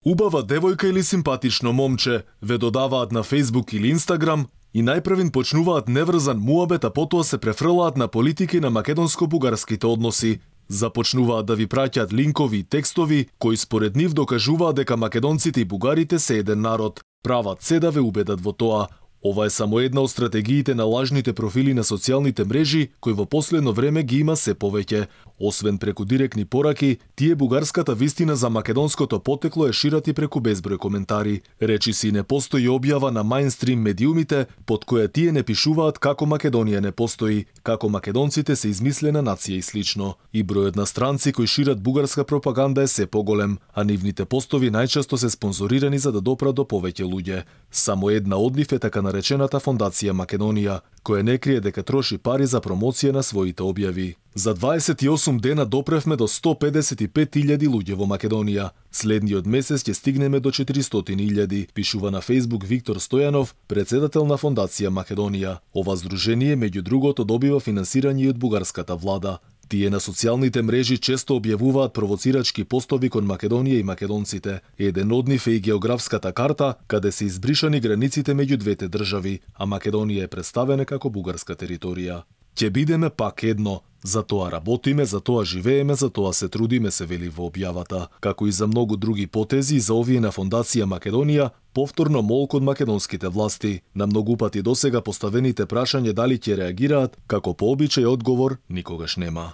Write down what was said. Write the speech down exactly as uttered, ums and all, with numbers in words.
Убава девојка или симпатично момче ве додаваат на Facebook или Instagram и најпрвин почнуваат неврзан муабет, а потоа се префрлаат на политика и на македонско-бугарските односи. Започнуваат да ви праќаат линкови и текстови кои според нив докажуваат дека македонците и бугарите се еден народ. Прават се да ве убедат во тоа. Ова е само една од стратегиите на лажните профили на социјалните мрежи, кои во последно време ги има се повеќе. Освен преку директни пораки, тие бугарската вистина за македонското потекло е шират и преку безброј коментари. Речи си не постои објава на мајнстрим медиумите, под која тие не пишуваат како Македонија не постои, како македонците се измислена нација и слично. И бројот на странци кои шират бугарска пропаганда е се поголем, а нивните постови најчесто се спонзорирани за да допрат до повеќе луѓе. Само една од нив е така наречената Фондација Македонија, која не крие дека троши пари за промоција на своите објави. За дваесет и осум дена допревме до сто педесет и пет илјади луѓе во Македонија. Следниот месец ќе стигнеме до четиристотини илјади, пишува на Facebook Виктор Стојанов, председател на Фондација Македонија. Ова здружение меѓу другото добива финансирање и од бугарската влада. Тие на социјалните мрежи често објавуваат провоцирачки постови кон Македонија и македонците. Еден од нив е и географската карта, каде се избришани границите меѓу двете држави, а Македонија е представена како бугарска територија. Ќе бидеме пак едно, за тоа работиме, за тоа живееме, за тоа се трудиме, се вели во објавата. Како и за многу други потези, за овие на Фондација Македонија, повторно молк од македонските власти. На многу пати досега поставените прашања дали ќе реагираат, како по обичај одговор никогаш нема.